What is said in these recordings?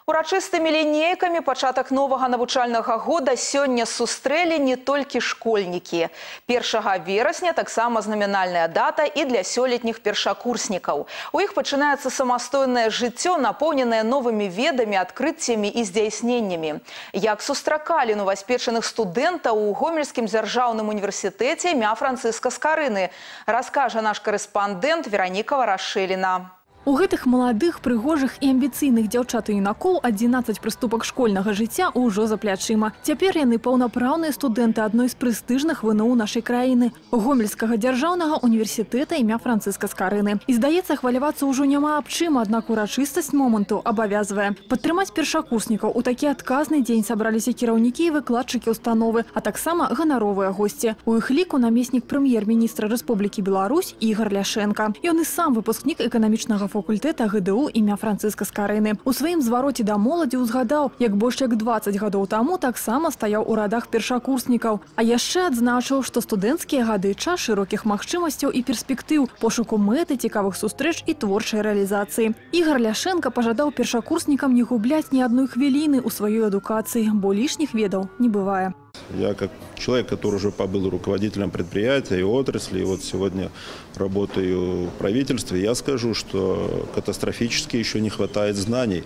Урачыстымі лінейкамі пачатак новага навучальнага года сёння сустрэлі не толькі школьнікі. 1 верасня таксама знамінальная дата і для сёлетніх першакурснікаў. У іх пачынаецца самастойнае жыццё, напоўненае новымі ведамі, адкрыццямі і здзяйсненнямі. Як сустракалі новаспечаных студэнтаў у Гомельскім дзяржаўным універсітэце імя Францыска Скарыны, раскажа наш корэспандэнт Вераніка Варашыліна. У гэтых маладых, прыгожых і амбіцыйных дзяўчат і юнакоў 11 прыступак школьнага жыцця ўжо за плячыма. Цяпер яны паўнапраўныя студэнты адной з прэстыжных ВНУ нашай краіны – Гомельскага дзяржаўнага універсітэта імя Францыска Скарыны. І здаецца, хвалявацца ўжо няма аб чым, аднак урачыстасць моманту абавязвае. Падтрымаць першакурснікаў у такі адказны дзень сабраліся кіраўнікі і выкладчыкі установы, а таксама ганаровыя госці. У іх ліку намеснік прэм'ер-міністра Рэспублікі Беларусь Ігар Ляшенка. Ён і сам выпускнік эканамічнага факультэта ГДУ імя Францыска Скарыны. У сваім звароце да моладзі ўзгадаў, як больш як 20 гадоў таму таксама стаяў у радах першакурснікаў. А яшчэ адзначыў, што студэнцкія гады час шырокіх магчымасцяў і перспектыў, пошуку мэты, цікавых сустрэч і творчай рэалізацыі. Ігар Ляшенка пажадаў першакурснікам не губляць ні адной хвіліны ў сваёй адукацыі, бо лішніх ведаў не бывае. Я как человек, который уже побыл руководителем предприятия и отрасли, и вот сегодня работаю в правительстве, я скажу, что катастрофически еще не хватает знаний.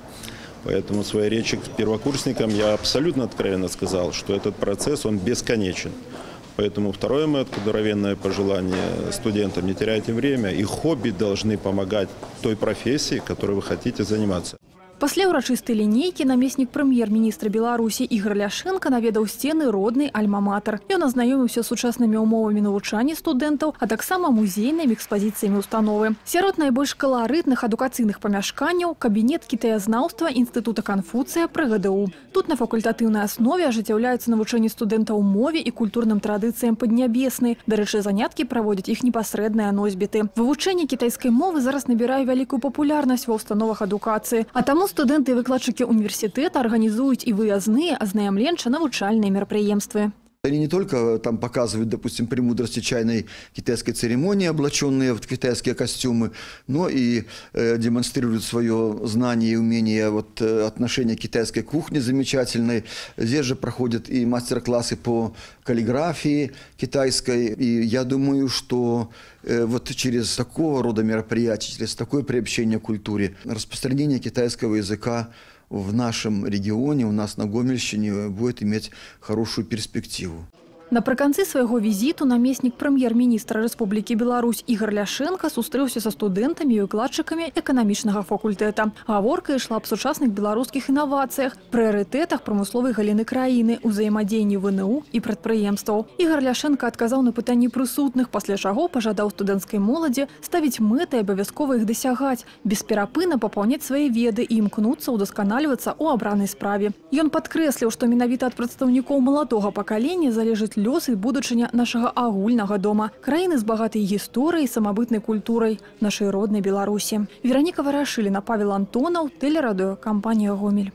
Поэтому в своей речи к первокурсникам я абсолютно откровенно сказал, что этот процесс, он бесконечен. Поэтому второе мое откровенное пожелание студентам: не теряйте время, и хобби должны помогать той профессии, которой вы хотите заниматься. Пасля ўрачыстай лінейкі намеснік прэм'ер-міністра Беларусі Ігар Ляшенка наведаў сцены роднай альма-матэр. Ён азнаёміўся з сучаснымі ўмовамі навучання студэнтаў, а таксама музейнымі экспазіцыямі установы. Сярод найбольш каларытных адукацыйных памяшканняў кабінет кітаязнаўства Інстытута Канфуцыя пры ГДУ. Тут на факультатыўнай аснове ажыццяўляецца навучанне студэнтаў мове і культурным традыцыям Паднябеснай. Дарэчы, заняткі праводзяць іх непасрэдныя носьбіты. Вывучэнне кітайскай мовы зараз набірае вялікую папулярнасць ва ўстановах адукацыі, а таму студэнты і выкладчыкі універсітэта арганізуюць і выязныя азнаямленча-навучальныя мерапрыемствы. Они не только там показывают, допустим, премудрости чайной китайской церемонии, облаченные в китайские костюмы, но и демонстрируют свое знание и умение отношения к китайской кухне замечательной. Здесь же проходят и мастер-классы по каллиграфии китайской. И я думаю, что вот через такого рода мероприятия, через такое приобщение к культуре, распространение китайского языка в нашем регионе, у нас на Гомельщине, будет иметь хорошую перспективу. Напрыканцы свайго візіту намеснік прэм'ер-міністра Рэспублікі Беларусь Ігар Ляшенка сустрэўся са студэнтамі і выкладчыкамі эканамічнага факультэта. Гаворка ішла аб сучасных беларускіх інавацыях, прыярытэтах прамысловай галіны краіны, узаемадзеянні ВНУ і прадпрыемстваў. Ігар Ляшенка адказаў на пытанні прысутных, пасля чаго пажадаў студэнцкай моладзі ставіць мэты і абавязкова іх дасягаць, бесперапынна папаўняць свае веды і імкнуцца ўдасканальвацца ў абранай справе. Ён падкрэсліў, што менавіта ад прадстаўнікоў маладога пакалення залежыць лёс і будучыня нашага агульнага дома, краіны з багатай гісторыяй і самабытнай культурай нашай роднай Беларусі. Вераніка Варашыліна, Павел Антонаў, тэлерадыё, кампанія «Гомель».